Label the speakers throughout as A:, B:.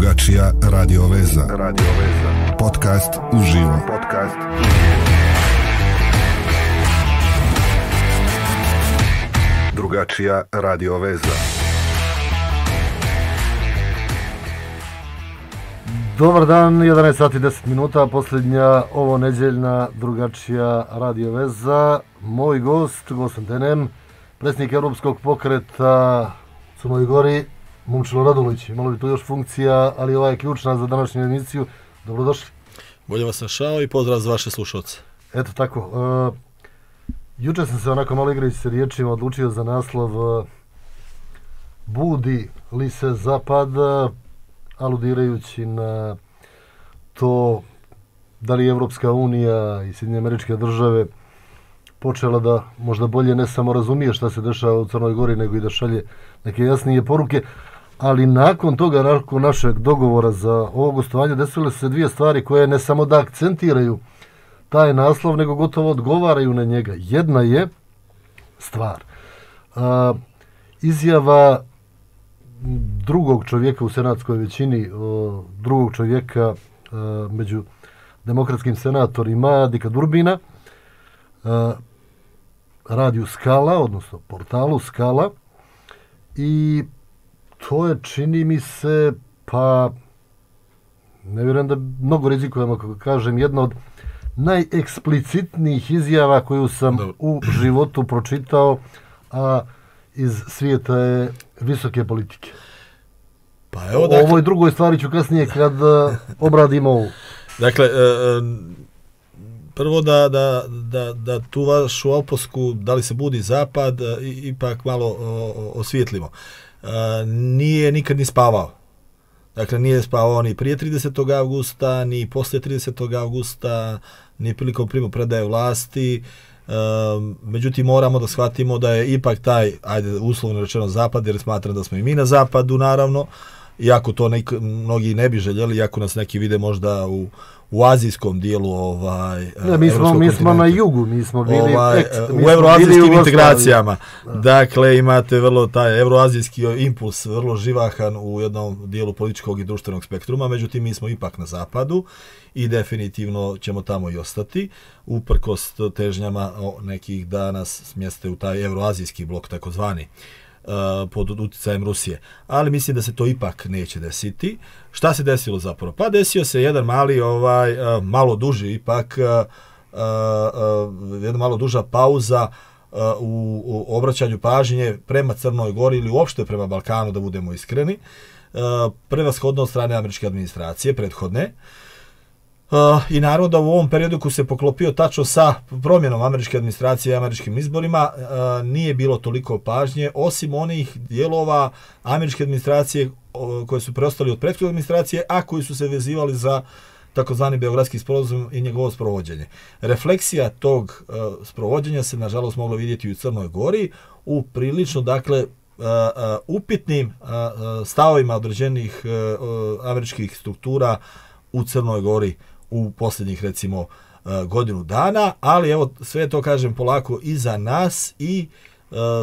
A: Drugačija radio veza. Podcast uživo. Drugačija radio veza.
B: Dobar dan, 11 sati 10 minuta, posljednja ovo nedjeljna Drugačija radio veza. Moj gost, Gosan Tenem, predsjednik Europskog pokreta u Crnoj Gori, Momčilo Radulović. Imalo bi tu još funkcija, ali ova je ključna za današnju emisiju. Dobrodošli.
C: Bolje vas našao i pozdrav za vaše slušalce.
B: Eto tako. Jučer sam se onako malo igrajući se riječima odlučio za naslov Budi li se zapad, aludirajući na to da li je Evropska unija i Sjedinjene Američke Države počela da možda bolje ne samo razumije šta se dešava u Crnoj Gori, nego i da šalje neke jasnije poruke. Ali nakon toga, nakon našeg dogovora za ovo gostovanje, desile su se dvije stvari koje ne samo da akcentiraju taj naslov, nego gotovo odgovaraju na njega. Jedna je stvar. Izjava drugog čovjeka u senatskoj većini, drugog čovjeka među demokratskim senatorima, Dika Durbina, radiju Skala, odnosno portalu Skala, i to je, čini mi se, pa ne vjerujem da mnogo rizikujem ako kažem, jedna od najeksplicitnijih izjava koju sam u životu pročitao, a iz svijeta je visoke politike.
C: Pa evo,
B: dakle, o ovoj drugoj stvari ću kasnije kad obradimo ovu.
C: Dakle, prvo da tu vašu opasku, da li se budi zapad, ipak malo osvijetlimo. Nije nikad ni spavao. Dakle, nije spavao ni prije 30. augusta, ni poslije 30. augusta, ni prilikom primopredaje vlasti. Međutim, moramo da shvatimo da je ipak taj, ajde, uslovno rečeno zapad, jer smatram da smo i mi na zapadu, naravno, iako to mnogi ne bi željeli, iako nas neki vide možda u azijskom dijelu
B: mi smo na jugu, mi smo bili
C: u euroazijskim integracijama. Dakle, imate vrlo taj euroazijski impuls, vrlo živahan u jednom dijelu političkog i društvenog spektruma, međutim mi smo ipak na zapadu i definitivno ćemo tamo i ostati, uprkos težnjama nekih da nas smjeste u taj euroazijski blok, takozvani, pod utjecajem Rusije. Ali mislim da se to ipak neće desiti. Šta se desilo zapravo? Pa desio se jedan mali, malo duži ipak, jedna malo duža pauza u obraćanju pažnje prema Crnoj Gori ili uopšte prema Balkanu, da budemo iskreni. Prevashodno od strane američke administracije, prethodne. I naravno da u ovom periodu koji se poklopio tačno sa promjenom američke administracije i američkim izborima nije bilo toliko pažnje, osim onih dijelova američke administracije koje su preostali od prethodne administracije, a koji su se vezivali za takozvani Beogradski sporazum i njegovo sprovođenje. Refleksija tog sprovođenja se nažalost moglo vidjeti i u Crnoj Gori u prilično, dakle, upitnim stavovima određenih američkih struktura u Crnoj Gori u posljednjih, recimo, godinu dana, ali evo, sve to, kažem, polako iza nas i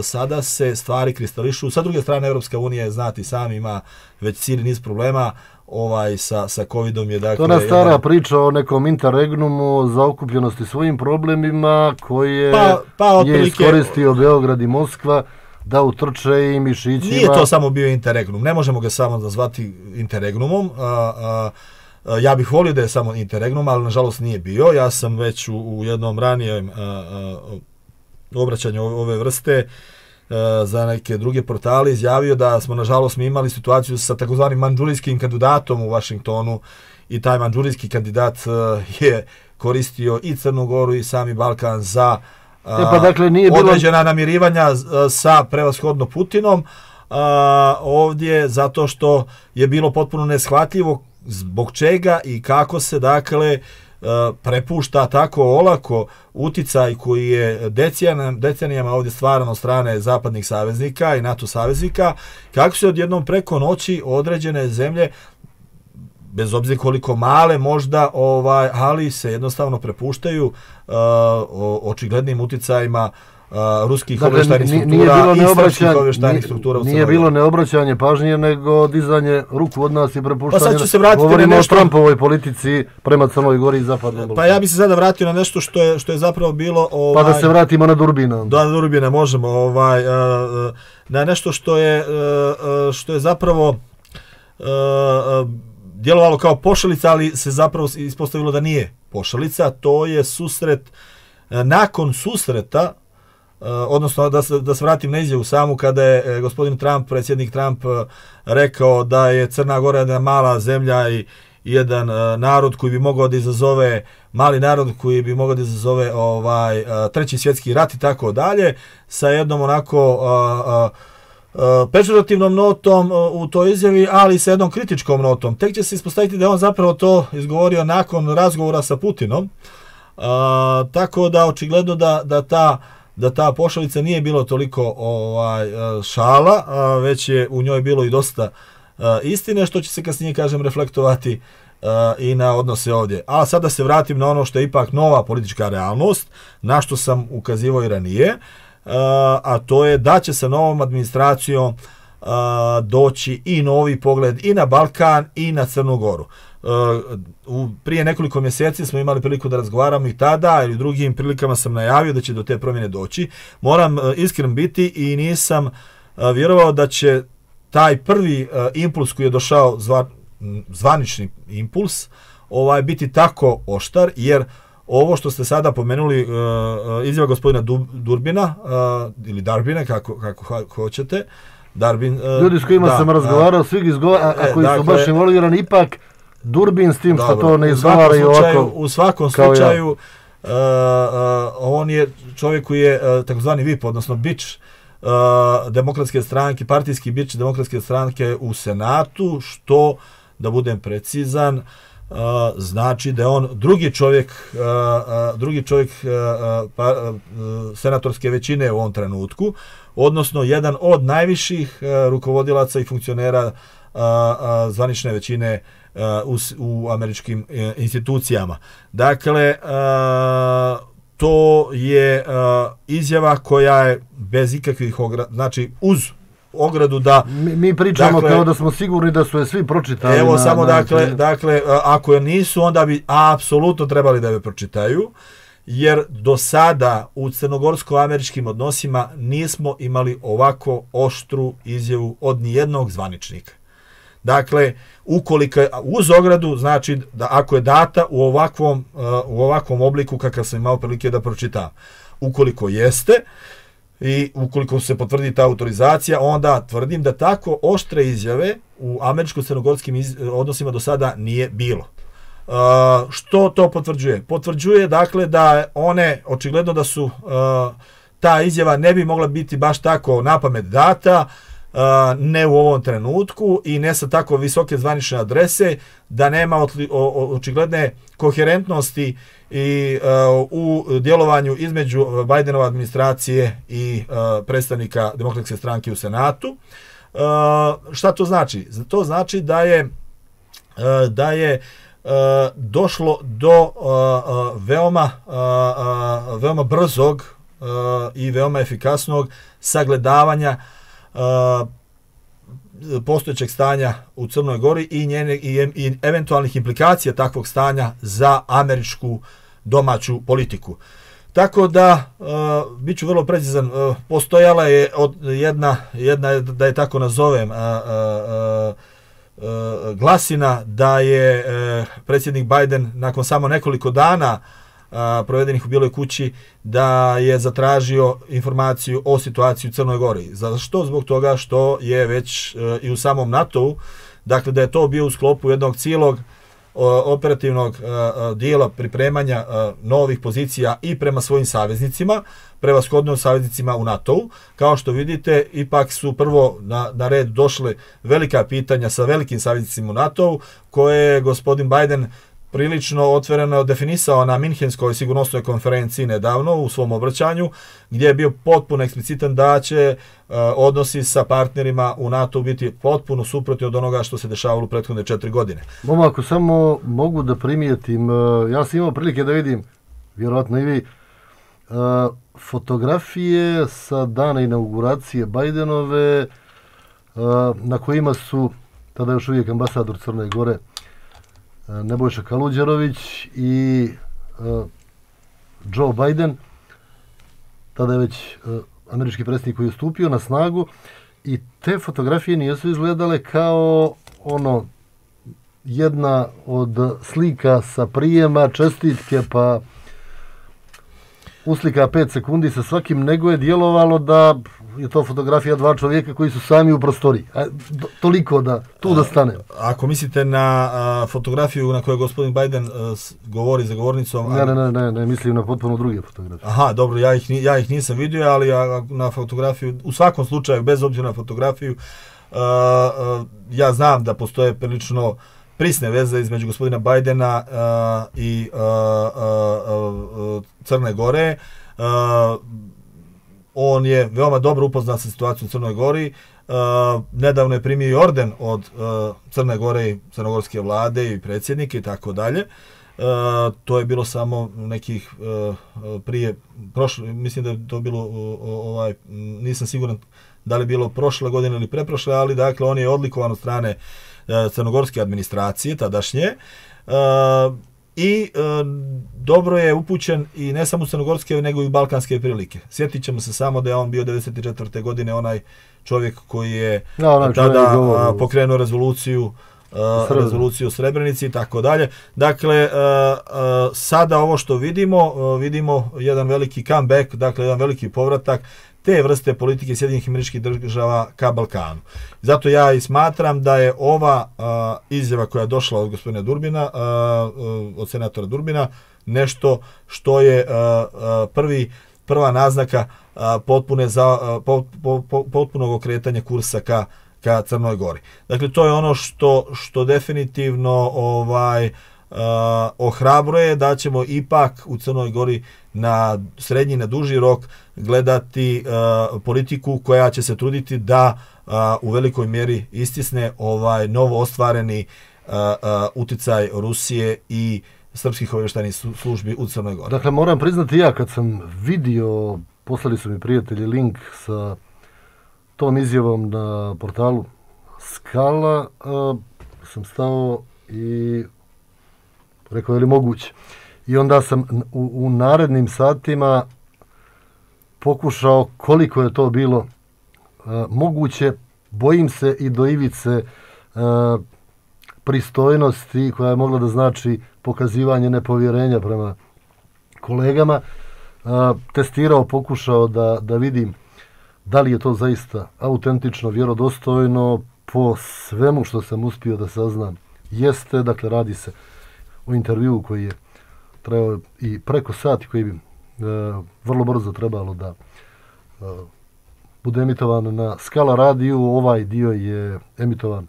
C: sada se stvari kristališu. Sa druge strane, Europska unija, znati sami, ima već cijeli niz problema sa covidom. Dakle,
B: to je stara priča o nekom interregnumu, zaokupljenosti svojim problemima koje je iskoristio Beograd i Moskva da utrče i mišićima.
C: Nije to samo bio interregnum, ne možemo ga samo nazvati interregnumom. Ja bih volio da je samo interregnum, ali nažalost nije bio. Ja sam već u jednom ranijem obraćanju ove vrste za neke druge portale izjavio da smo, nažalost, mi imali situaciju sa takozvanim mandžurijskim kandidatom u Vašingtonu i taj mandžurijski kandidat je koristio i Crnu Goru i sami Balkan za određena namirivanja sa prevashodno Putinom ovdje, zato što je bilo potpuno neshvatljivo zbog čega i kako se, dakle, prepušta tako olako uticaj koji je decenijama ovdje stvaran od strane zapadnih saveznika i NATO saveznika, kako se odjednom preko noći određene zemlje, bez obzira koliko male možda, ali se jednostavno prepuštaju očiglednim uticajima ruskih obavještajnih struktura i srpskih obavještajnih struktura u Crnoj Gori.
B: Nije bilo neobraćanje pažnje, nego dizanje ruku od nas i prepuštanje.
C: Pa sad ću se vratiti
B: govorimo
C: na nešto...
B: o Trumpovoj politici prema Crnoj Gori i Zapadnom Balkanu.
C: Pa ja bi se sada vratio na nešto što je zapravo bilo...
B: Pa da se vratimo na Durbina.
C: Da, na Durbina možemo. Na nešto što je zapravo djelovalo kao pošalica, ali se zapravo ispostavilo da nije pošalica. To je susret, nakon susreta, odnosno da se vratim na izjavu samu, kada je gospodin Trump, predsjednik Trump, rekao da je Crna Gora jedna mala zemlja i jedan narod koji bi mogao da izazove, mali narod koji bi mogao da izazove treći svjetski rat i tako dalje, sa jednom onako pežurativnom notom u toj izjavi, ali sa jednom kritičkom notom. Tek će se ispostaviti da je on zapravo to izgovorio nakon razgovora sa Putinom, tako da očigledno da ta pošalica nije bilo toliko šala, već je u njoj bilo i dosta istine, što će se kasnije, kažem, reflektovati i na odnose ovdje. A sada se vratim na ono što je ipak nova politička realnost, na što sam ukazivao i ranije, a to je da će sa novom administracijom doći i novi pogled i na Balkan i na Crnu Goru. Prije nekoliko mjeseci smo imali priliku da razgovaramo i tada, ili u drugim prilikama sam najavio da će do te promjene doći. Moram iskren biti i nisam vjerovao da će taj prvi impuls koji je došao, zvanični impuls, biti tako oštar, jer ovo što ste sada pomenuli, izjava gospodina Durbina, ili Darbina, kako hoćete, Darbin...
B: Ljudi s kojima sam razgovarao, svi izgovara, a koji su baš involvirani, ipak Durbin s tim što to ne izgovaraju ovako.
C: U svakom slučaju, on je čovjek koji je takozvani VIP, odnosno bič demokratske stranke, partijski bič demokratske stranke u Senatu, što, da budem precizan, znači da je on drugi čovjek senatorske većine u ovom trenutku, odnosno jedan od najviših rukovodilaca i funkcionera zvanične većine u američkim institucijama. Dakle, to je izjava koja je bez ikakvih znači uz ogradu da...
B: Mi pričamo kao da smo sigurni da su je svi pročitali.
C: Evo samo dakle, ako je nisu, onda bi apsolutno trebali da je pročitaju, jer do sada u crnogorsko-američkim odnosima nismo imali ovako oštru izjavu od nijednog zvaničnika. Dakle, ukoliko je uz ogradu, znači da ako je data u ovakvom obliku kakav sam imao prilike da pročitam. Ukoliko jeste i ukoliko se potvrdi ta autorizacija, onda tvrdim da tako oštre izjave u američko-crnogorskim odnosima do sada nije bilo. Što to potvrđuje? Potvrđuje dakle da one, očigledno da su ta izjava ne bi mogla biti baš tako napamet data, ne u ovom trenutku i ne sa tako visoke zvanične adrese, da nema očigledne koherentnosti i u djelovanju između Bidenove administracije i predstavnika demokratske stranke u Senatu. Šta to znači? To znači da je došlo do veoma brzog i veoma efikasnog sagledavanja postojećeg stanja u Crnoj Gori i eventualnih implikacija takvog stanja za američku domaću politiku. Tako da, bit ću vrlo precizan, postojala je jedna, da je tako nazovem, glasina da je predsjednik Biden nakon samo nekoliko dana provedenih u Bijeloj kući da je zatražio informaciju o situaciji u Crnoj Gori. Zašto? Zbog toga što je već i u samom NATO-u, dakle da je to bio u sklopu jednog cijelog operativnog dijela pripremanja novih pozicija i prema svojim saveznicima, prevashodno saveznicima u NATO-u. Kao što vidite, ipak su prvo na red došle velika pitanja sa velikim saveznicima u NATO-u, koje je gospodin Biden prilično otvoreno definisao na Minhenskoj sigurnosnoj konferenciji nedavno u svom obraćanju, gdje je bio potpuno eksplicitan da će odnosi sa partnerima u NATO biti potpuno suprotni od onoga što se dešavalo u prethodne 4 godine.
B: Ako samo mogu da primijetim, ja sam imao prilike da vidim, vjerojatno i vi, fotografije sa dana inauguracije Bajdenove na kojima su tada još uvijek ambasador Crne Gore Nebojša Kaluđerović i Joe Biden, tada je već američki predsjednik koji je stupio na snagu, i te fotografije nisu izgledale kao jedna od slika sa prijema, čestitke, pa uslika 5 sekundi sa svakim, nego je djelovalo da je to fotografija dva čovjeka koji su sami u prostoriji. Toliko da tu da stane.
C: Ako mislite na fotografiju na kojoj gospodin Biden govori za govornicom...
B: Ne, mislim na potpuno druge fotografije.
C: Aha, dobro, ja ih nisam vidio, ali na fotografiju, u svakom slučaju, bez obzira na fotografiju, ja znam da postoje prilično prisne veze između gospodina Bajdena i Crne Gore. On je veoma dobro upoznat sa situacijom u Crnoj Gori. Nedavno je primio i orden od Crne Gore i crnogorske vlade i predsjednike i tako dalje. To je bilo samo nekih prije, mislim da je to bilo, nisam siguran da li je bilo prošle godine ili preprošle, ali dakle on je odlikovan od strane crnogorske administracije tadašnje i dobro je upućen i ne samo u crnogorske nego i u balkanske prilike. Sjetit ćemo se samo da je on bio 1994. godine onaj čovjek koji je tada pokrenuo rezoluciju o Srebrenici i tako dalje. Dakle, sada ovo što vidimo jedan veliki comeback, dakle jedan veliki povratak te vrste politike Sjedinjenih Američkih Država ka Balkanu. Zato ja i smatram da je ova izjava koja je došla od gospodina Durbina, od senatora Durbina, nešto što je prva naznaka potpunog okretanja kursa ka Crnoj Gori. Dakle, to je ono što definitivno ohrabruje da ćemo ipak u Crnoj Gori na srednji, na duži rok gledati politiku koja će se truditi da u velikoj mjeri istisne novo ostvareni uticaj Rusije i srpskih obavještajnih službi u Crnoj Gori.
B: Dakle, moram priznati, ja kad sam vidio, poslali su mi prijatelji link sa tom izjavom na portalu Skala, sam stao i rekao, je li moguće? I onda sam u narednim satima pokušao koliko je to bilo moguće. Bojim se i do ivice pristojnosti koja je mogla da znači pokazivanje nepovjerenja prema kolegama. Testirao, pokušao da vidim da li je to zaista autentično, vjerodostojno. Po svemu što sam uspio da saznam jeste. Dakle, radi se o intervjuu koji je trebao i preko sati, koji bi vrlo brzo trebalo da bude emitovan na Skala radiju. Ovaj dio je emitovan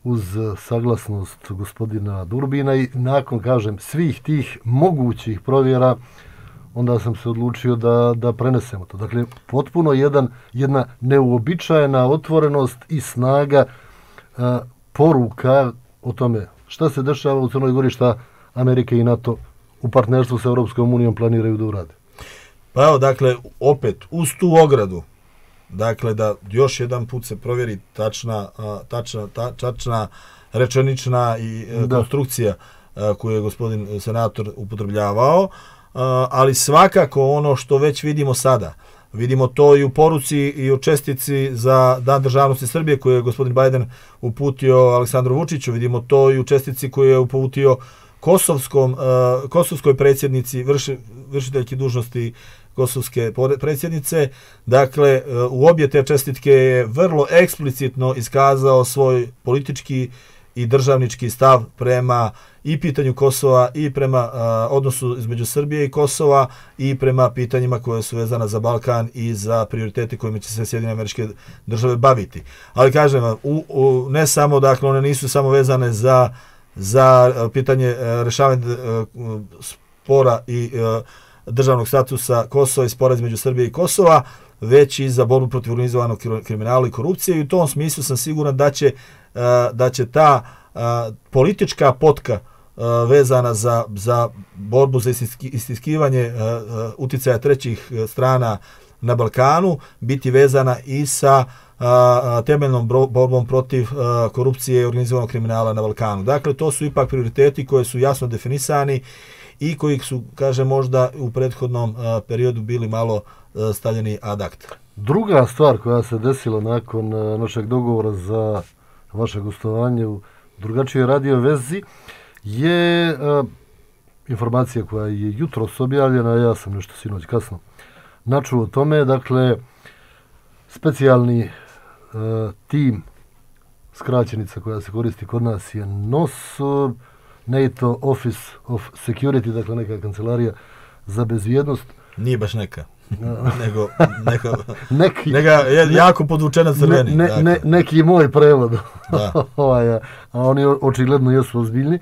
B: uz saglasnost gospodina Durbina i nakon, kažem, svih tih mogućih provjera onda sam se odlučio da prenesemo to. Dakle, potpuno jedna neuobičajena otvorenost i snaga poruka o tome šta se dešava u Crnoj Gori, šta Amerika i NATO u partnerstvu sa Europskom unijom planiraju da urade.
C: Pa evo, dakle, opet, uz tu ogradu, dakle, da još jedan put se provjeri tačna rečenična i konstrukcija koju je gospodin senator upotrebljavao, ali svakako ono što već vidimo sada, vidimo to i u poruci i u čestici za Dan državnosti Srbije koju je gospodin Biden uputio Aleksandru Vučiću, vidimo to i u čestici koju je uputio kosovskoj predsjednici, vršiteljki dužnosti kosovske predsjednice. Dakle, u obje te čestitke je vrlo eksplicitno iskazao svoj politički i državnički stav prema i pitanju Kosova i prema odnosu između Srbije i Kosova i prema pitanjima koje su vezana za Balkan i za prioritete kojima će se Sjedinjene Američke Države baviti. Ali kažem vam, ne samo, dakle, one nisu samo vezane za pitanje rješavanja spora i državnog statusa Kosova i spora između Srbije i Kosova, već i za borbu protiv organizovanog kriminala i korupcije, i u tom smislu sam siguran da će ta politička potka vezana za borbu za istiskivanje uticaja trećih strana na Balkanu biti vezana i sa temeljnom borbom protiv korupcije i organizovanog kriminala na Balkanu. Dakle, to su ipak prioriteti koji su jasno definisani i koji su, kažem, možda u prethodnom periodu bili malo stavljeni ad acta.
B: Druga stvar koja se desila nakon našeg dogovora za vaše gostovanje u drugačijoj radio vezi je informacija koja je jutros objavljena, ja sam nešto sinoć kasno načuo o tome. Dakle, specijalni tim, skraćenica koja se koristi kod nas je NOS, NATO Office of Security, dakle neka kancelarija za bezbjednost.
C: Nije baš neka, nego jako podvučena crveni.
B: Neki moj prevod, a oni očigledno jesu ozbiljni.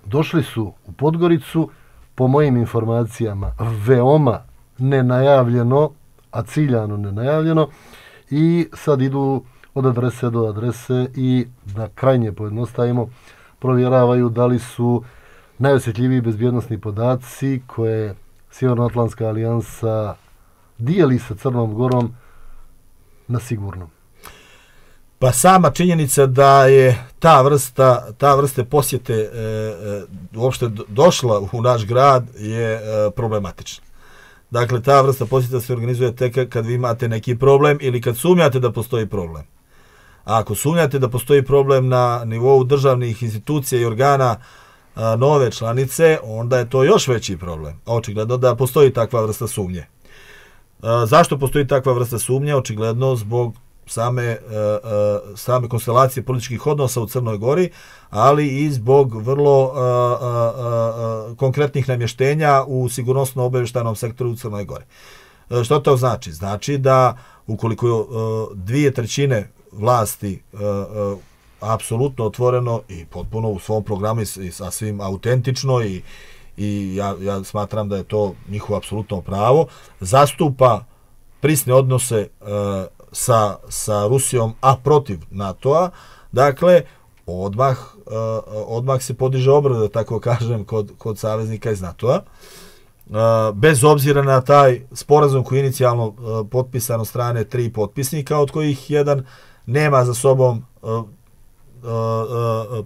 B: Došli su u Podgoricu, po mojim informacijama, veoma nenajavljeno, a ciljano nenajavljeno, i sad idu od adrese do adrese i da krajnje pojednostavimo provjeravaju da li su najosjetljiviji bezbjednosni podaci koje Sjevernoatlantska alijansa dijeli sa Crnom Gorom na sigurnom.
C: Pa sama činjenica da je ta vrste posjete uopšte došla u naš grad je problematična. Dakle, ta vrsta posjeta se organizuje tek kad vi imate neki problem ili kad sumnjate da postoji problem. A ako sumnjate da postoji problem na nivou državnih institucija i organa nove članice, onda je to još veći problem. Očigledno da postoji takva vrsta sumnje. Zašto postoji takva vrsta sumnje? Očigledno zbog same konstelacije političkih odnosa u Crnoj Gori, ali i zbog vrlo konkretnih namještenja u sigurnosno-obavještajnom sektoru u Crnoj Gori. Što to znači? Znači da ukoliko 2/3 vlasti apsolutno otvoreno i potpuno u svom programu i sasvim autentično i ja smatram da je to njihovo apsolutno pravo, zastupa prisne odnose sa Rusijom, a protiv NATO-a, dakle, odmah se podiže obrada, da tako kažem, kod saveznika iz NATO-a. Bez obzira na taj sporazum koji je inicijalno potpisan od strane 3 potpisnika, od kojih jedan nema za sobom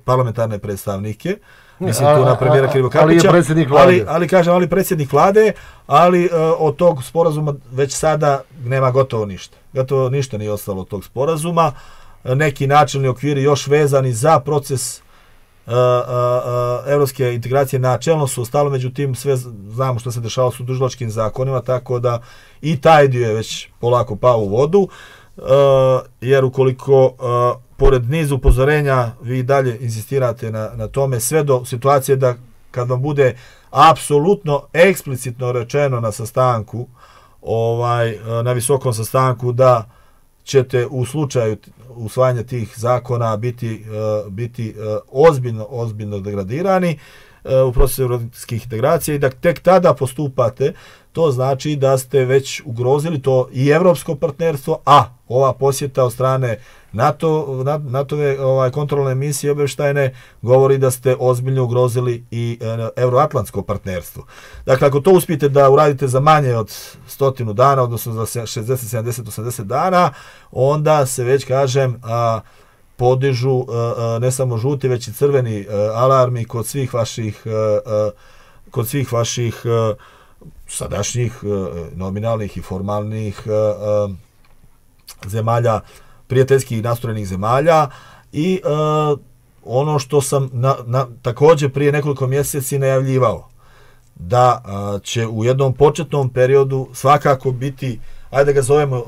C: parlamentarne predstavnike, mislim tu na premijera Krivokapića, ali predsjednik vlade, ali od tog sporazuma već sada nema gotovo ništa. Gotovo ništa nije ostalo od tog sporazuma. Neki načelni okviri još vezani za proces evropske integracije načelno su ostalo, međutim sve znamo što se dešava su tužilačkim zakonima, tako da i taj dio je već polako pao u vodu, jer ukoliko pored niza upozorenja vi dalje insistirate na tome, sve do situacije da kad vam bude apsolutno eksplicitno rečeno na sastanku, na visokom sastanku, da ćete u slučaju usvajanja tih zakona biti ozbiljno degradirani u procesu evropskih integracija i da tek tada postupate, to znači da ste već ugrozili to i evropsko partnerstvo, a ova posjeta od strane NATO-ve kontrolne misije obavještajne govori da ste ozbiljno ugrozili i euroatlantsko partnerstvo. Dakle, ako to uspijete da uradite za manje od 100 dana, odnosno za 60, 70, 80 dana, onda se već, kažem, podižu ne samo žuti, već i crveni alarmi kod svih vaših sadašnjih nominalnih i formalnih zemalja, prijateljskih nastrojenih zemalja i ono što sam također prije nekoliko mjeseci najavljivao, da će u jednom početnom periodu svakako biti, ajde ga zovemo,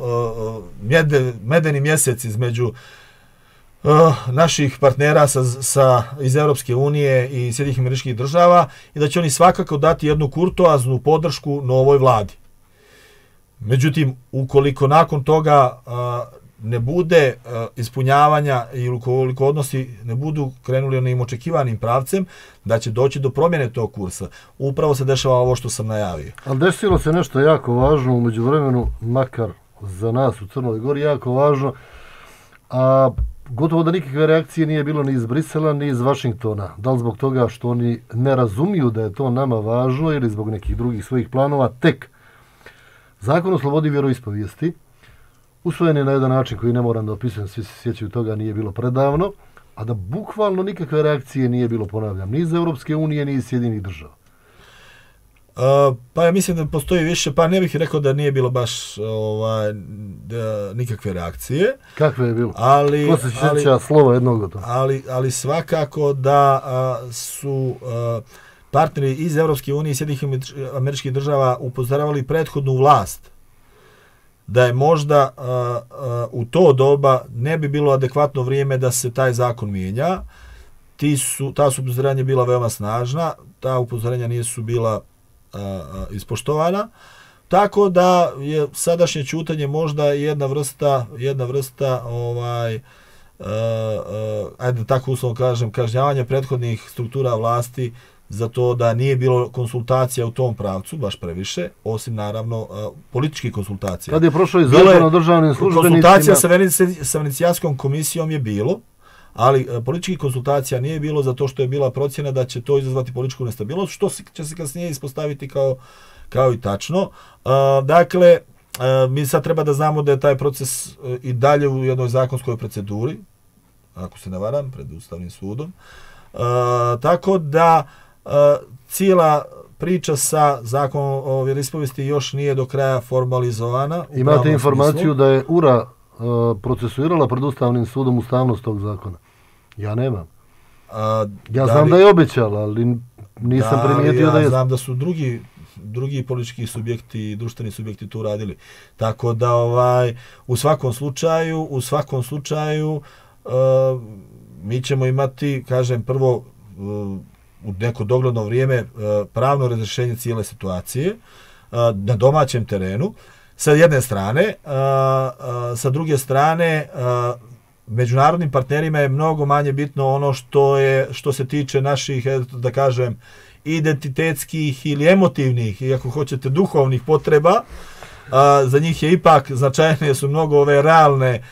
C: medeni mjesec između naših partnera iz Europske unije i Sjedinjenih Američkih Država i da će oni svakako dati jednu kurtoaznu podršku novoj vladi. Međutim, ukoliko nakon toga ne bude ispunjavanja i ukoliko odnosi ne budu krenuli onim očekivanim pravcem, da će doći do promjene tog kursa. Upravo se dešava ovo što sam najavio.
B: Ali desilo se nešto jako važno u međuvremenu, makar za nas u Crnoj Gori jako važno, a gotovo da nikakve reakcije nije bilo ni iz Brisela, ni iz Vašingtona. Da li zbog toga što oni ne razumiju da je to nama važno ili zbog nekih drugih svojih planova, tek Zakon o slobodi vjeroispovijesti, usvojen je na jedan način koji ne moram da opisujem, svi se sjećaju toga, nije bilo predavno, a da bukvalno nikakve reakcije nije bilo, ponavljam, ni iz Europske unije, ni iz Sjedinjenih država.
C: Pa ja mislim da postoji više, pa ne bih rekao da nije bilo baš nikakve reakcije.
B: Kakve je bilo? Ko se sjeća slova jednog od toga?
C: Ali svakako da su partneri iz Europske unije i Sjedinjenih Američkih Država upozoravali prethodnu vlast da je možda u to doba ne bi bilo adekvatno vrijeme da se taj zakon mijenja. Ta su upozorenja bila veoma snažna, ta upozorenja nisu bila ispoštovana, tako da je sadašnje ćutanje možda jedna vrsta ajde tako uslovno kažem, kažnjavanja prethodnih struktura vlasti za to da nije bilo konsultacija u tom pravcu, baš previše, osim naravno političkih konsultacija.
B: Kad je prošlo i Zakon o državnim službenicima...
C: Konsultacija sa Venecijanskom komisijom je bilo, ali političkih konsultacija nije bilo zato što je bila procjena da će to izazvati političku nestabilnost, što će se kasnije ispostaviti kao i tačno. Dakle, mi sad treba da znamo da je taj proces i dalje u jednoj zakonskoj proceduri, ako se ne varam, pred Ustavnim sudom. Tako da cijela priča sa Zakonom o vjeroispovijesti još nije do kraja formalizovana.
B: Imate informaciju da je URA procesuirala pred Ustavnim sudom ustavnost tog zakona? Ja nemam. Ja znam da je obećala, ali nisam primijetio da je...
C: Ja znam da su drugi politički subjekti i društveni subjekti tu radili. Tako da u svakom slučaju mi ćemo imati, kažem, prvo u neko dogledno vrijeme pravno razrješenje cijele situacije na domaćem terenu sa jedne strane, sa druge strane međunarodnim partnerima je mnogo manje bitno ono što se tiče naših, da kažem, identitetskih ili emotivnih, i ako hoćete duhovnih potreba. Za njih je ipak značajnije su mnogo ove realne,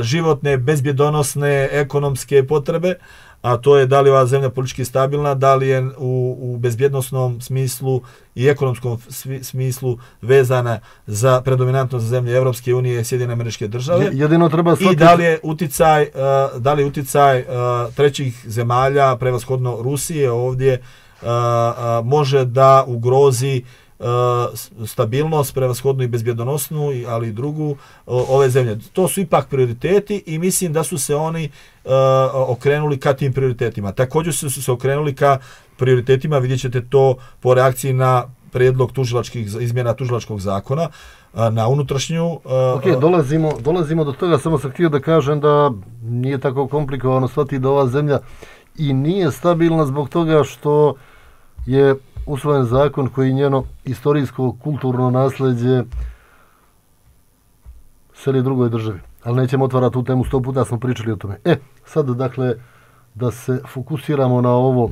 C: životne, bezbjedonosne, ekonomske potrebe, a to je da li je ova zemlja politički stabilna, da li je u bezbjednosnom smislu i ekonomskom smislu vezana za predominantno za zemlje Evropske unije i Sjedinjene Američke Države.
B: Jedino treba shvatiti...
C: I da li je uticaj trećih zemalja, prevashodno Rusije ovdje, može da ugrozi stabilnost, prevashodnu i bezbjedonosnu, ali i drugu ove zemlje. To su ipak prioriteti i mislim da su se oni okrenuli ka tim prioritetima. Također su se okrenuli ka prioritetima, vidjet ćete to po reakciji na prijedlog izmjena tužilačkog zakona, na unutrašnju...
B: Dolazimo do toga, samo sam htio da kažem da nije tako komplikovano shvatiti da ova zemlja i nije stabilna zbog toga što je usvojen zakon koji njeno istorijsko, kulturno nasljeđe seli drugoj državi. Ali nećemo otvarati tu temu, 100 puta smo pričali o tome. Sad, dakle, da se fokusiramo na ovo.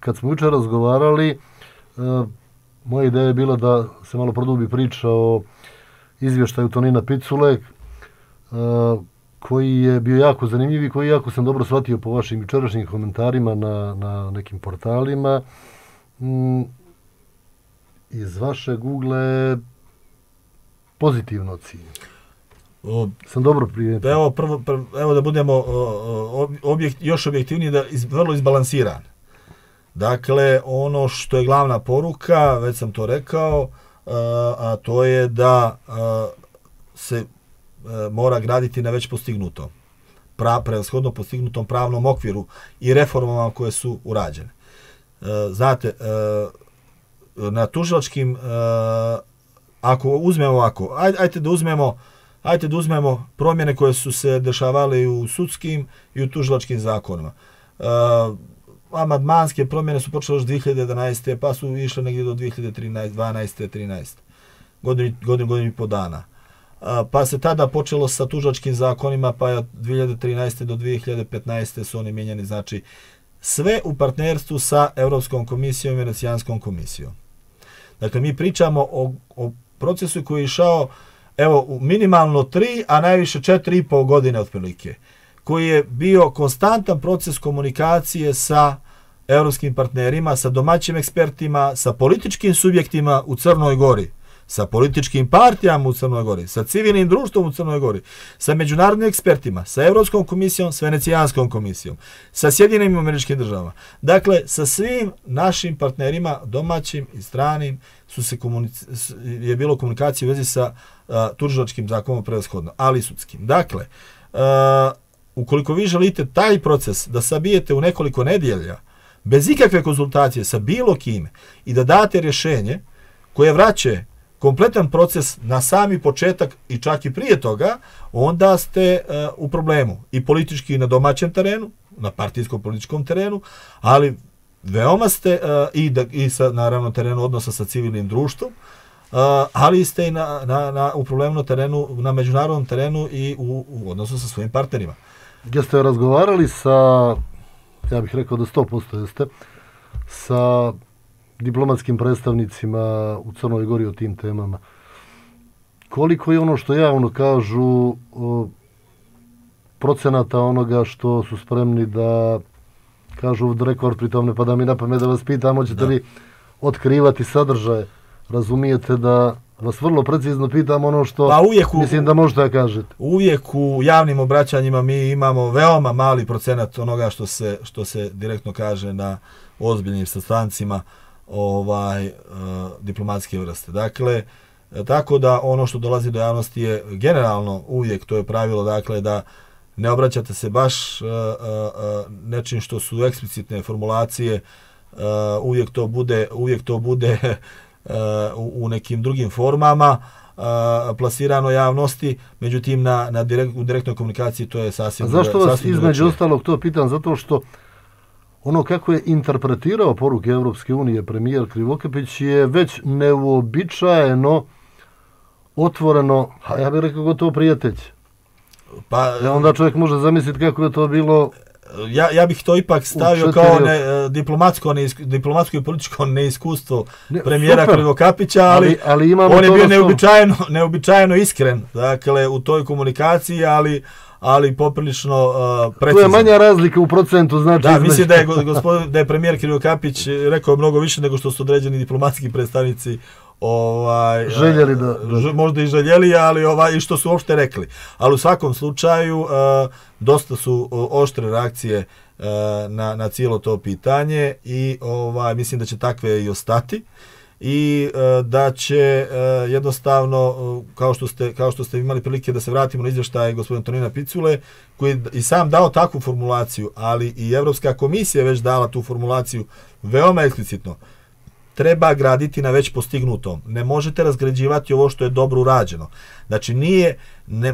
B: Kad smo jučer razgovarali, moja ideja je bila da se malo produbi priča o izvještaju Tonina Picule, koji je bio jako zanimljiv i koji jako sam dobro shvatio po vašim jučerašnjim komentarima na nekim portalima. Iz vaše Google pozitivno ocjenjeno. Sam dobro primijetio.
C: Evo da budemo još objektivniji, vrlo izbalansiran. Dakle, ono što je glavna poruka, već sam to rekao, a to je da se mora graditi na već postignutom, prevashodno postignutom pravnom okviru i reformama koje su urađene. Znate, na tužilačkim, ako uzmemo ovako, ajte da uzmemo promjene koje su se dešavale u sudskim i u tužilačkim zakonima. Amandmanske promjene su počele još 2011. pa su išle negdje do 2013, 12. 13. godinu i po dana. Pa se tada počelo sa tužilačkim zakonima, pa je od 2013. do 2015. su oni mijenjani, znači sve u partnerstvu sa Europskom komisijom i Venecijanskom komisijom. Dakle, mi pričamo o procesu koji je išao minimalno 3, a najviše 4,5 godine otprilike, koji je bio konstantan proces komunikacije sa evropskim partnerima, sa domaćim ekspertima, sa političkim subjektima u Crnoj Gori, sa političkim partijama u Crnoj Gori, sa civilnim društvom u Crnoj Gori, sa međunarodnim ekspertima, sa Evropskom komisijom, s Venecijanskom komisijom, sa Sjedinjenim Američkim Državama. Dakle, sa svim našim partnerima, domaćim i stranim, je bilo komunikacije u vezi sa tužilačkim zakonom prevashodno, ali i sudskim. Dakle, ukoliko vi želite taj proces da sabijete u nekoliko nedjelja, bez ikakve konzultacije sa bilo kime i da date rješenje koje vraće kompletan proces na sami početak i čak i prije toga, onda ste u problemu i politički na domaćem terenu, na partijskom političkom terenu, ali veoma ste i sa naravno terenu odnosa sa civilnim društvom, ali ste i u problemu terenu, na međunarodnom terenu i u odnosu sa svojim partnerima.
B: Jeste razgovarali sa, ja bih rekao da 100% jeste, sa diplomatskim predstavnicima u Crnoj Gori o tim temama? Koliko je ono što javno kažu procenata onoga što su spremni da kažu od rekord, pritom ne pada mi na pamet da vas pitam, hoćete li otkrivati sadržaje? Razumijete da vas vrlo precizno pitam ono što mislim da možete da kažete.
C: Uvijek u javnim obraćanjima mi imamo veoma mali procenat onoga što se direktno kaže na ozbiljnim sastancima diplomatske vrste. Dakle, tako da ono što dolazi do javnosti je generalno uvijek, to je pravilo, dakle, da ne obraćate se baš nečim što su eksplicitne formulacije, uvijek to bude u nekim drugim formama plasirano javnosti, međutim u direktnoj komunikaciji to je sasvim drugačije.
B: Zašto vas između ostalog to pitam? Zato što ono kako je interpretirao poruke Evropske unije premijer Krivokapić je već neuobičajeno otvoreno, a ja bih rekao gotovo prijatelj. Onda čovjek može zamisliti kako je to bilo.
C: Ja bih to ipak stavio kao diplomatsko i političko neiskustvo premijera Krivokapića, ali on je bio neobičajeno iskren, dakle, u toj komunikaciji, ali poprilično precizno.
B: To je manja razlika u procentu, znači.
C: Da, mislim da je premijer Krivokapić rekao mnogo više nego što su određeni diplomatski predstavnici
B: željeli da
C: možda i željeli, ali i što su uopšte rekli. Ali u svakom slučaju dosta su oštre reakcije na cijelo to pitanje i mislim da će takve i ostati i da će jednostavno, kao što ste imali prilike da se vratimo na izvještaj gospodina Tonina Picule, koji je i sam dao takvu formulaciju, ali i Evropska komisija je već dala tu formulaciju veoma eksplicitno. Treba graditi na već postignutom. Ne možete razgrađivati ovo što je dobro urađeno. Znači,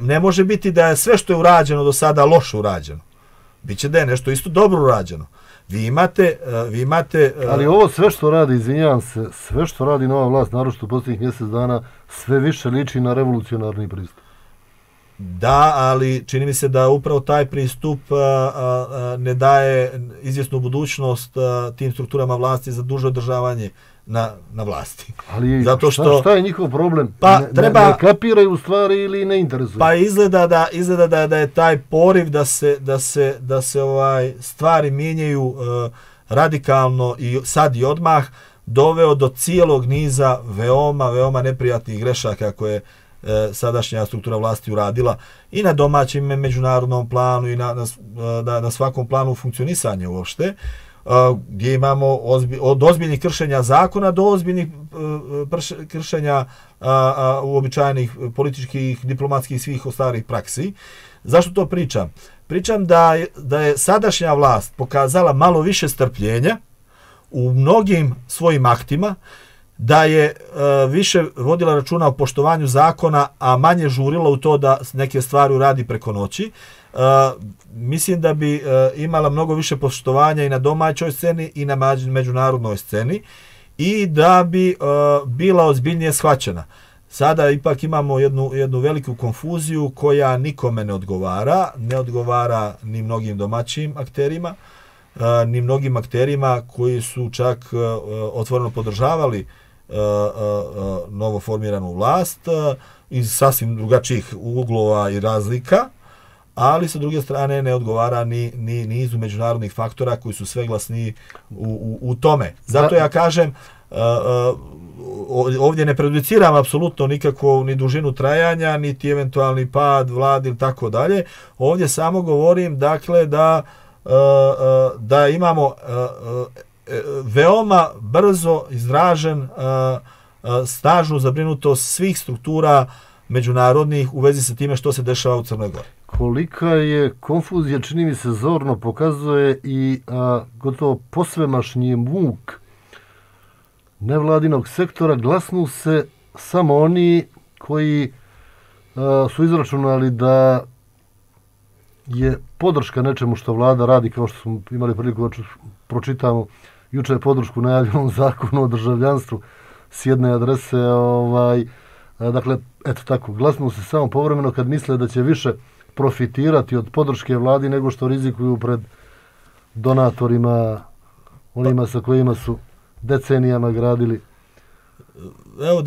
C: ne može biti da je sve što je urađeno do sada loše urađeno. Biće da je nešto isto dobro urađeno. Vi imate...
B: Ali ovo sve što radi, izvinjavam se, sve što radi nova vlast, naročito u posljednjih mjesec dana, sve više liči na revolucionarni pristup.
C: Da, ali čini mi se da upravo taj pristup ne daje izvjesnu budućnost tim strukturama vlasti za duže održavanje na vlasti.
B: Ali šta je njihov problem? Ne kapiraju u stvari ili ne interesuju?
C: Pa izgleda da je taj poriv da se stvari mijenjaju radikalno i sad i odmah doveo do cijelog niza veoma neprijatnih grešaka koje sadašnja struktura vlasti uradila i na domaćem međunarodnom planu i na svakom planu funkcionisanja uopšte, gdje imamo od ozbiljnih kršenja zakona do ozbiljnih kršenja uobičajenih političkih, diplomatskih i svih ostalih praksi. Zašto to pričam? Pričam da je sadašnja vlast pokazala malo više strpljenja u mnogim svojim aktima, da je više vodila računa o poštovanju zakona, a manje žurila u to da neke stvari uradi preko noći. Mislim da bi imala mnogo više poštovanja i na domaćoj sceni i na međunarodnoj sceni i da bi bila ozbiljnije shvaćena. Sada ipak imamo jednu veliku konfuziju koja nikome ne odgovara ni mnogim domaćim akterima, ni mnogim akterima koji su čak otvoreno podržavali novo formiranu vlast iz sasvim drugačijih uglova i razlika, ali sa druge strane ne odgovara ni nizu međunarodnih faktora koji su sve glasniji u tome. Zato ja kažem, ovdje ne prejudiciram apsolutno nikakvu ni dužinu trajanja, niti eventualni pad vlade ili tako dalje. Ovdje samo govorim, dakle, da imamo veoma brzo izražen snažnu zabrinutost svih struktura međunarodnih u vezi sa time što se dešava u Crnoj Gori.
B: Kolika je konfuzija, čini mi se, zorno pokazuje i gotovo posvemašnji muk nevladinog sektora. Glasnu se samo oni koji su izračunali da je podrška nečemu što vlada radi, kao što smo imali priliku da pročitamo juče podršku najavljenom zakonu o državljanstvu s jedne adrese. Dakle, eto tako, glasnu se samo povremeno kad misle da će više profitirati od podrške vladi nego što rizikuju pred donatorima, onima sa kojima su decenijama gradili.
C: Evo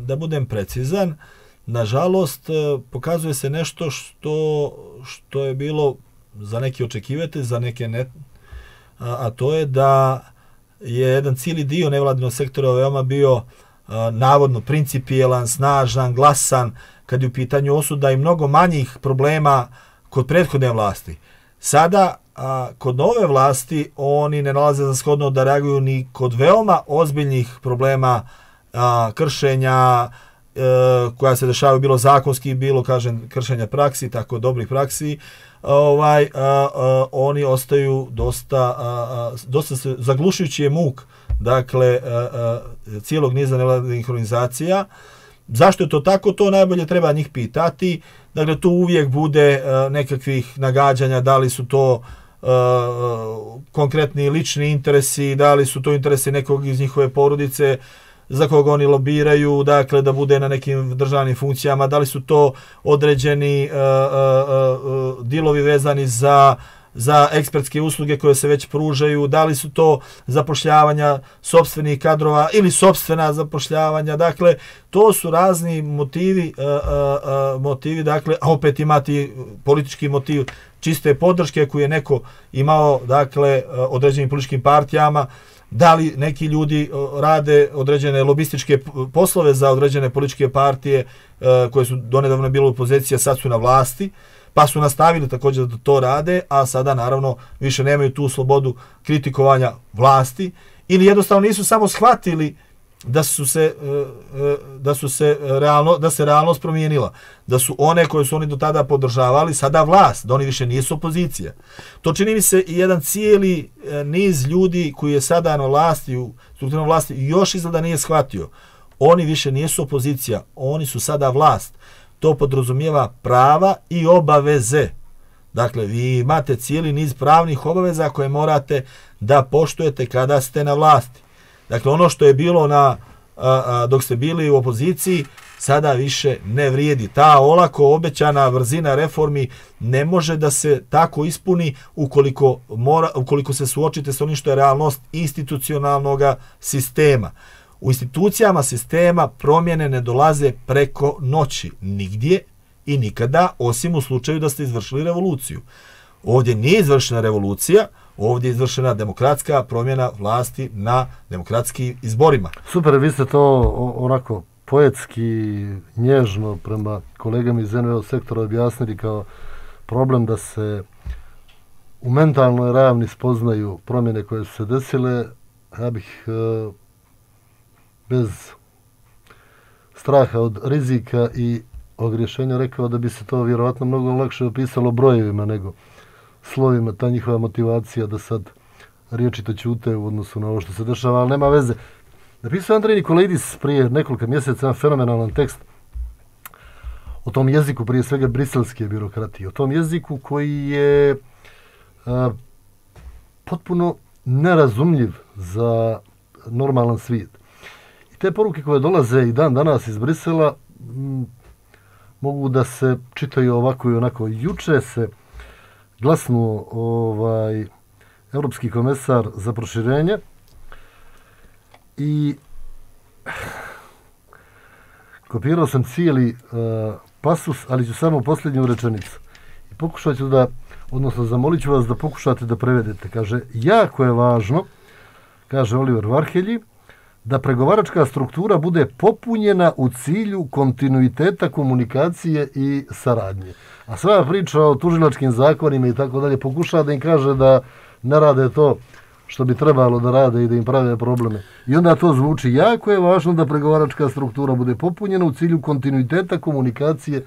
C: da budem precizan, nažalost pokazuje se nešto što je bilo za neke očekivati, za neke ne, a to je da je jedan cijeli dio nevladinog sektora veoma bio navodno principijelan, snažan, glasan, kad je u pitanju osuda i mnogo manjih problema kod prethodne vlasti. Sada, kod nove vlasti, oni ne nalaze za shodno da reaguju ni kod veoma ozbiljnih problema kršenja koja se dešavaju bilo zakonski, bilo, kažem, kršenja praksi, tako dobrih praksi. Oni ostaju dosta se zaglušujući je muk, dakle, cijelog niza nevladinih organizacija. Zašto je to tako? To najbolje treba njih pitati. Dakle, tu uvijek bude nekakvih nagađanja, da li su to konkretni lični interesi, da li su to interesi nekog iz njihove porodice, za koga oni lobiraju, dakle, da bude na nekim državnim funkcijama, da li su to određeni dilovi vezani za ekspertske usluge koje se već pružaju, da li su to zapošljavanja sopstvenih kadrova ili sopstvena zapošljavanja. Dakle, to su razni motivi, dakle, a opet imati politički motiv čiste podrške koju je neko imao, dakle, određenim političkim partijama. Da li neki ljudi rade određene lobističke poslove za određene političke partije koje su donedavno bile u poziciji, a sad su na vlasti, pa su nastavili također da to rade, a sada naravno više nemaju tu slobodu kritikovanja vlasti, ili jednostavno nisu samo shvatili da se realnost promijenila, da su one koje su oni do tada podržavali sada vlast, da oni više nisu opozicija. To čini mi se i jedan cijeli niz ljudi koji je sada na vlasti, u strukturnoj vlasti, još izgleda nije shvatio. Oni više nisu opozicija, oni su sada vlast. To podrazumijeva prava i obaveze. Dakle, vi imate cijeli niz pravnih obaveza koje morate da poštujete kada ste na vlasti. Dakle, ono što je bilo dok ste bili u opoziciji, sada više ne vrijedi. Ta olako obećana brzina reformi ne može da se tako ispuni ukoliko se suočite s onim što je realnost institucionalnog sistema. U institucijama sistema promjene ne dolaze preko noći, nigdje i nikada, osim u slučaju da ste izvršili revoluciju. Ovdje nije izvršena revolucija, ovdje je izvršena demokratska promjena vlasti na demokratskim izborima.
B: Super, vi ste to onako poetski, nježno prema kolegama iz NVO sektora objasnili kao problem da se u mentalnoj ravni spoznaju promjene koje su se desile. Ja bih bez straha od rizika i ogrješenja rekao da bi se to vjerovatno mnogo lakše opisalo brojevima nego slovima, ta njihova motivacija da sad riječi to ćute u odnosu na ovo što se dešava, ali nema veze. Napisao Andrej Nikolaidis prije nekoliko mjeseca fenomenalan tekst o tom jeziku, prije svega briselske birokratije, o tom jeziku koji je potpuno nerazumljiv za normalan svijet. I te poruke koje dolaze i dan danas iz Brisela mogu da se čitaju ovako i onako. Juče se glasnuo Europski komesar za proširenje i kopirao sam cijeli pasus, ali ću samo posljednju rečenicu. I pokušat ću da, odnosno zamolit ću vas da pokušate da prevedete. Kaže, jako je važno, kaže Oliver Varhelji, da pregovaračka struktura bude popunjena u cilju kontinuiteta komunikacije i saradnje. A sva priča o tužilačkim zakonima i tako dalje pokušava da im kaže da ne rade to što bi trebalo da rade i da im prave probleme. I onda to zvuči, jako je važno da pregovaračka struktura bude popunjena u cilju kontinuiteta komunikacije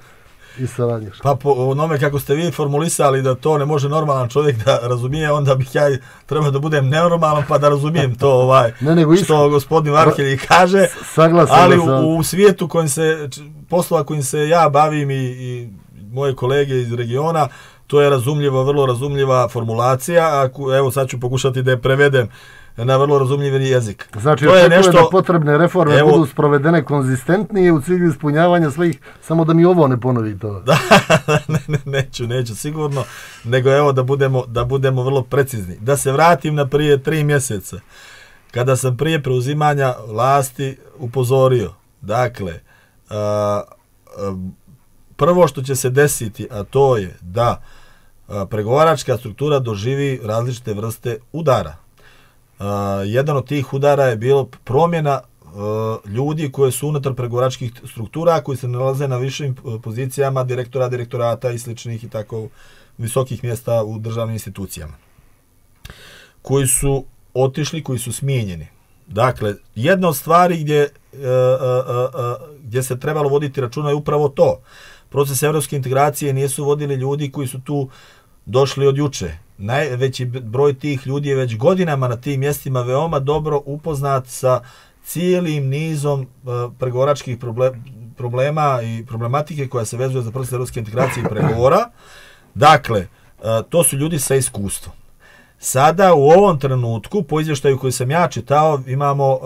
B: i saradnje.
C: Pa po onome kako ste vi formulisali da to ne može normalan čovjek da razumije, onda bih ja trebao da budem nenormalan pa da razumijem to što gospodin Varhelji kaže. Ali u svijetu poslova kojim se ja bavim i moje kolege iz regiona, to je razumljivo, vrlo razumljiva formulacija. Evo sad ću pokušati da je prevedem na vrlo razumljiv jezik.
B: Znači, da potrebne reforme budu sprovedene konzistentnije u cilju ispunjavanja svojih, samo da mi ovo ne ponovi to.
C: Neću sigurno, nego evo da budemo vrlo precizni. Da se vratim na prije 3 mjeseca, kada sam prije preuzimanja vlasti upozorio. Dakle, prvo što će se desiti, a to je da pregovaračka struktura doživi različite vrste udara. Jedan od tih udara je bilo promjena ljudi koji su unutar pregovaračkih struktura, koji se nalaze na višim pozicijama direktorata i sličnih i tako visokih mjesta u državnim institucijama. Koji su otišli, koji su smijenjeni. Dakle, jedna od stvari gdje se trebalo voditi računa je upravo to. Proces evropske integracije nisu vodili ljudi koji su tu došli od juče. Najveći broj tih ljudi je već godinama na tim mjestima veoma dobro upoznat sa cijelim nizom pregovaračkih problema i problematike koja se vezuje za proces evropske integracije i pregovora. Dakle, to su ljudi sa iskustvom. Sada u ovom trenutku, po izvještaju koji sam ja čitao, imamo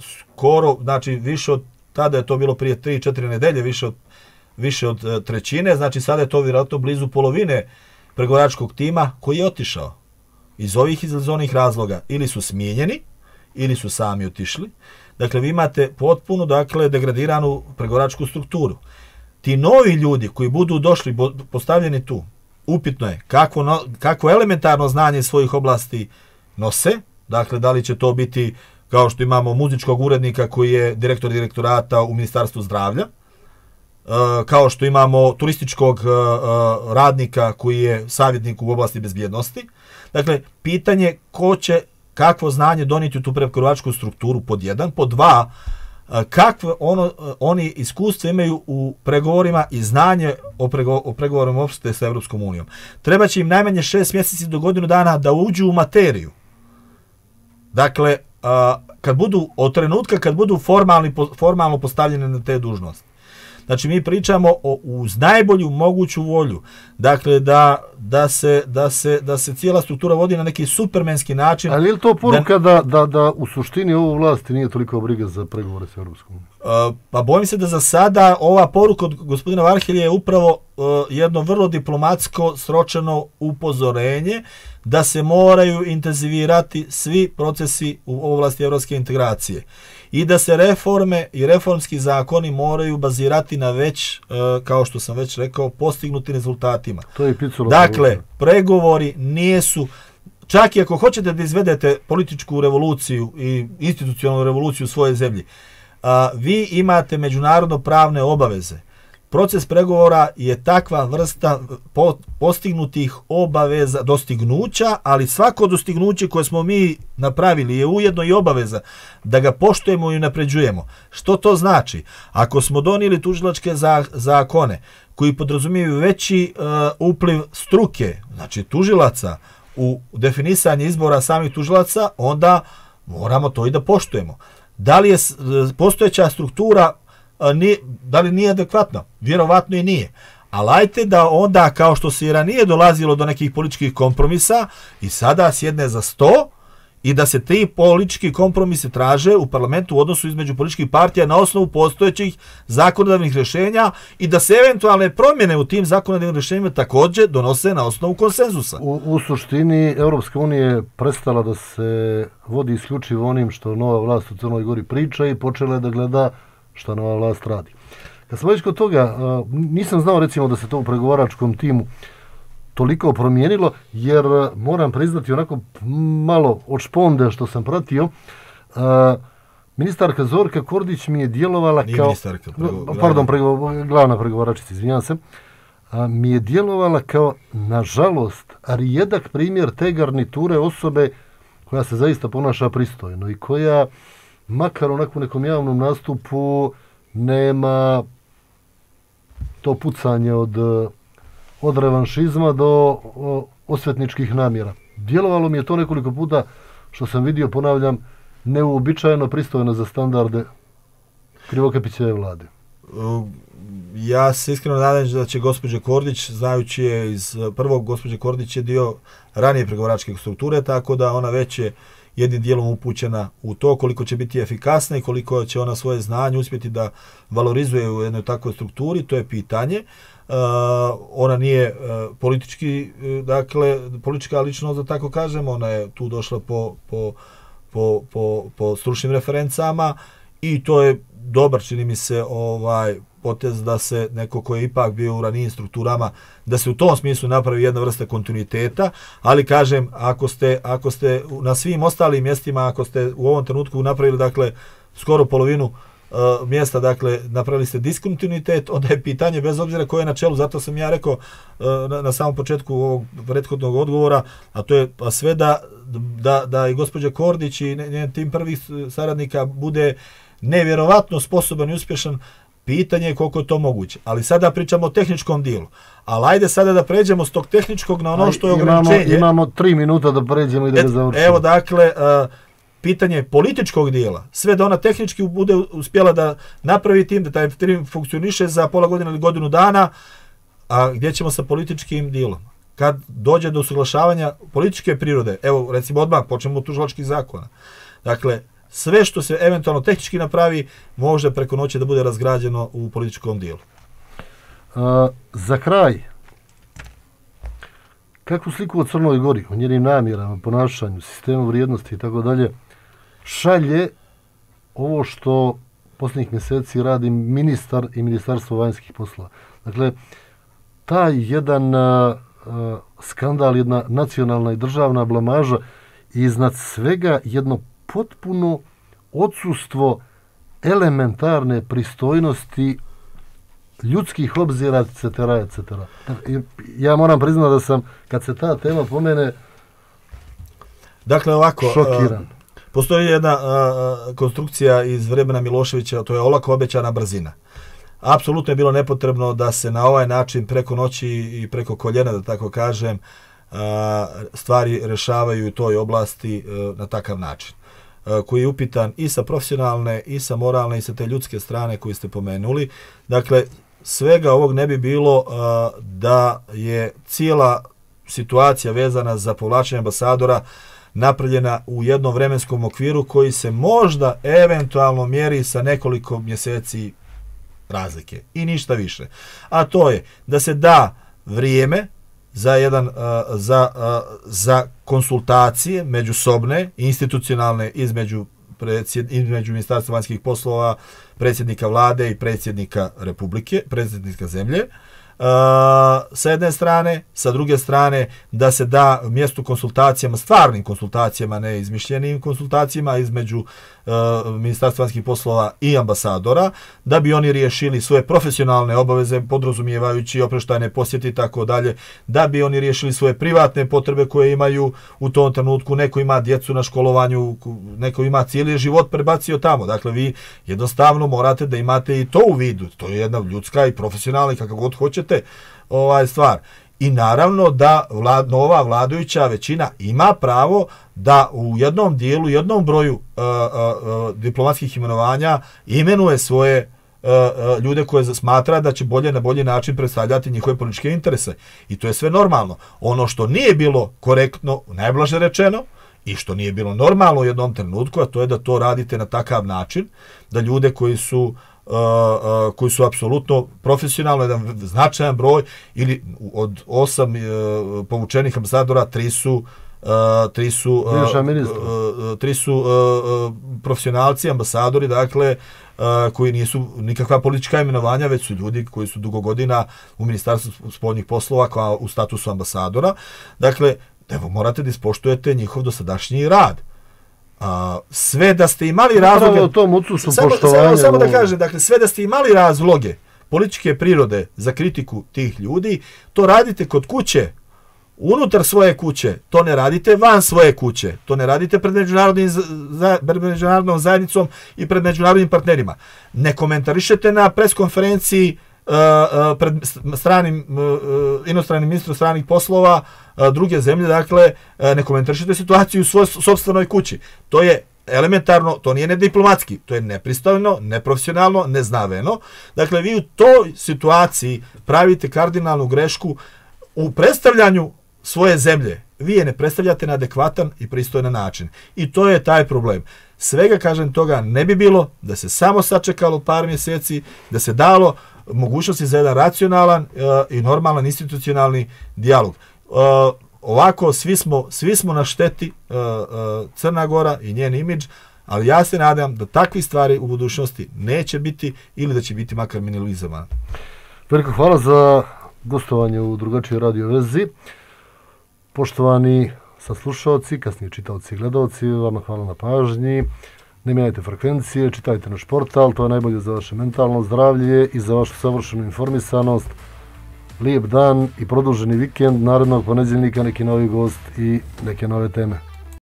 C: skoro, znači više od, tada je to bilo prije 3-4 nedelje, više od trećine, znači sada je to vjerojatno blizu polovine pregovaračkog tima koji je otišao. Iz onih razloga ili su smijenjeni, ili su sami otišli. Dakle, vi imate potpuno, degradiranu pregovaračku strukturu. Ti novi ljudi koji budu došli, postavljeni tu, upitno je kako elementarno znanje svojih oblasti nose. Dakle, da li će to biti kao što imamo muzičkog urednika koji je direktor direktorata u Ministarstvu zdravlja, kao što imamo turističkog radnika koji je savjetnik u oblasti bezbjednosti. Dakle, pitanje ko će kakvo znanje donijeti u tu pregovaračku strukturu pod 1, pod 2, kakve oni iskustva imaju u pregovorima i znanje o pregovorima uopšte sa Evropskom unijom. Treba će im najmanje 6 mjeseci do godinu dana da uđu u materiju. Dakle, od trenutka kad budu formalno postavljene na te dužnosti. Znači, mi pričamo uz najbolju moguću volju. Dakle, da se cijela struktura vodi na neki supermenski način.
B: Ali je li to poruka da u suštini ovo vlasti nije toliko briga za pregovore s Europskom unijom?
C: Pa bojim se da za sada ova poruka od gospodina Varhelja je upravo jedno vrlo diplomatsko sročeno upozorenje da se moraju intenzivirati svi procesi u oblasti evropske integracije. I da se reforme i reformski zakoni moraju bazirati na već, kao što sam već rekao, postignutim rezultatima. Dakle, pregovori nisu, čak i ako hoćete da izvedete političku revoluciju i institucionalnu revoluciju u svojoj zemlji, vi imate međunarodno pravne obaveze. Proces pregovora je takva vrsta postignutih obaveza, dostignuća, ali svako dostignuće koje smo mi napravili je ujedno i obaveza da ga poštujemo i unapređujemo. Što to znači? Ako smo donijeli tužilačke zakone koji podrazumijevaju veći upliv struke, znači tužilaca, u definisanje izbora samih tužilaca, onda moramo to i da poštujemo. Da li je postojeća struktura da li nije adekvatno? Vjerovatno i nije. Ali ajte da onda, kao što se i ranije dolazilo do nekih političkih kompromisa, i sada sjedne za sto i da se ti politički kompromisi traže u parlamentu u odnosu između političkih partija na osnovu postojećih zakonodavnih rješenja i da se eventualne promjene u tim zakonodavnim rješenjima također donose na osnovu konsenzusa.
B: U suštini, Europska unija je prestala da se vodi isključivo onim što nova vlast u Crnoj Gori priča i počela je da gleda šta nova vlast radi. Kad smo već kod toga, nisam znao recimo da se to u pregovaračkom timu toliko promijenilo, jer moram priznati onako malo od šponde što sam pratio, ministarka Zorka Kordić mi je djelovala kao... glavna pregovaračica, izvinjam se, mi je djelovala kao, nažalost, rijedak primjer te garniture osobe koja se zaista ponaša pristojno i koja, makar onako u nekom javnom nastupu, nema to pucanje od revanšizma do osvetničkih namjera. Djelovalo mi je to nekoliko puta, što sam vidio, ponavljam, neuobičajeno pristojno za standarde Krivokapićeve vlade.
C: Ja se iskreno nadam da će gospođa Kordić, znajući je iz prvog, gospođa Kordić je dio ranije pregovaračke strukture, tako da ona već je jednim dijelom upućena u to koliko će biti efikasna i koliko će ona svoje znanje uspjeti da valorizuje u jednoj takvoj strukturi, to je pitanje. Ona nije politički, dakle, politička ličnost, da tako kažem, ona je tu došla po stručnim referencama i to je dobar, čini mi se, potez da se neko ko je ipak bio u ranijim strukturama, da se u tom smislu napravi jedna vrsta kontinuiteta, ali kažem, ako ste na svim ostalim mjestima, ako ste u ovom trenutku napravili, dakle, skoro polovinu mjesta, dakle, napravili ste diskontinuitet, onda je pitanje, bez obzira koje je na čelu, zato sam ja rekao na samom početku ovog prethodnog odgovora, a to je pa sve da i gospođa Kordić i njen tim prvih saradnika bude nevjerovatno sposoban i uspješan, pitanje je koliko je to moguće. Ali sada pričamo o tehničkom dijelu. Ali ajde sada da pređemo s tog tehničkog na ono što je ograničenje.
B: Imamo 3 minuta da pređemo i da ga završimo.
C: Evo, dakle, pitanje političkog dijela, sve da ona tehnički bude uspjela da napravi tim, da taj tim funkcioniše za pola godine ili godinu dana, a gdje ćemo sa političkim dijelom? Kad dođe do usuglašavanja političke prirode, evo, recimo odmah, počnemo od tužilačkih zakona. Dakle, sve što se eventualno tehnički napravi, može preko noći da bude razgrađeno u političkom dijelu.
B: Za kraj, kakvu sliku o Crnoj Gori, o njenim namjerama, ponašanju, sistemu vrijednosti i tako dalje, šalje ovo što posljednjih mjeseci radi ministar i Ministarstvo vanjskih poslova. Dakle, taj jedan skandal, jedna nacionalna i državna blamaža i iznad svega jedno potpuno odsustvo elementarne pristojnosti, ljudskih obzira, etc. etc. Ja moram priznati da sam, kad se ta tema pomene,
C: dakle, ovako,
B: šokiran.
C: Postoji jedna konstrukcija iz vremena Miloševića, to je olako obećana brzina. Apsolutno je bilo nepotrebno da se na ovaj način preko noći i preko koljena, da tako kažem, stvari rešavaju u toj oblasti na takav način, koji je upitan i sa profesionalne, i sa moralne, i sa te ljudske strane koju ste pomenuli. Dakle, svega ovog ne bi bilo da je cijela situacija vezana za povlačenje ambasadora napravljena u jednom vremenskom okviru koji se možda eventualno mjeri sa nekoliko mjeseci razlike i ništa više. A to je da se da vrijeme za konsultacije međusobne, institucionalne između Ministarstva vanjskih poslova, predsjednika vlade i predsjednika Republike, predsjednika zemlje, sa jedne strane, sa druge strane da se da mjestu konsultacijama, stvarnim konsultacijama, ne izmišljenim konsultacijama između Ministarstva vanjskih poslova i ambasadora, da bi oni riješili svoje profesionalne obaveze, podrazumijevajući opreštajne posjete i tako dalje, da bi oni riješili svoje privatne potrebe koje imaju u tom trenutku. Neko ima djecu na školovanju, neko ima cijeli život prebacio tamo. Dakle, vi jednostavno morate da imate i to u vidu. To je jedna ljudska i profesionalna i kako god hoćete stvar. I naravno da nova vladajuća većina ima pravo da u jednom dijelu, jednom broju diplomatskih imenovanja imenuje svoje ljude koje smatra da će na bolji način predstavljati njihove političke interese. I to je sve normalno. Ono što nije bilo korektno, najblaže rečeno, i što nije bilo normalno u jednom trenutku, a to je da to radite na takav način, da ljude koji su apsolutno profesionalno, jedan značajan broj, ili od 8 povučenih ambasadora, 3 su tri su profesionalci, ambasadori, dakle, koji nisu nikakva politička imenovanja, već su ljudi koji su dugo godina u Ministarstvu spoljnih poslova kao u statusu ambasadora. Dakle, evo, morate da ispoštujete njihov dosadašnji rad. Sve da ste imali razloge... Samo da kažem, dakle, sve da ste imali razloge političke prirode za kritiku tih ljudi, to radite kod kuće, unutar svoje kuće, to ne radite van svoje kuće, to ne radite pred međunarodnom zajednicom i pred međunarodnim partnerima. Ne komentarišete na preskonferenciji pred inostranim ministrom stranih poslova druge zemlje, dakle, ne komentarišete situaciju u svojoj sopstvenoj kući. To je elementarno, to nije nediplomatski, to je nepristojno, neprofesionalno, neznaveno. Dakle, vi u toj situaciji pravite kardinalnu grešku u predstavljanju svoje zemlje. Vi je ne predstavljate na adekvatan i pristojan način. I to je taj problem. Svega, kažem, toga ne bi bilo da se samo sačekalo par mjeseci, da se dalo mogućnosti za jedan racionalan i normalan institucionalni dijalog. Ovako, svi smo na šteti, Crna Gora i njen imidž, ali ja se nadam da takvi stvari u budućnosti neće biti ili da će biti makar minimalizovane.
B: Veliko hvala za gostovanje u drugačijoj radio vezi. Poštovani saslušalci, kasnije čitaoci i gledalci, vama hvala na pažnji. Ne mijenjajte frekvencije, čitajte naš portal, to je najbolje za vaše mentalno zdravlje i za vašu savršenu informisanost. Lijep dan i produženi vikend, narednog ponedjeljnika neki novi gost i neke nove teme.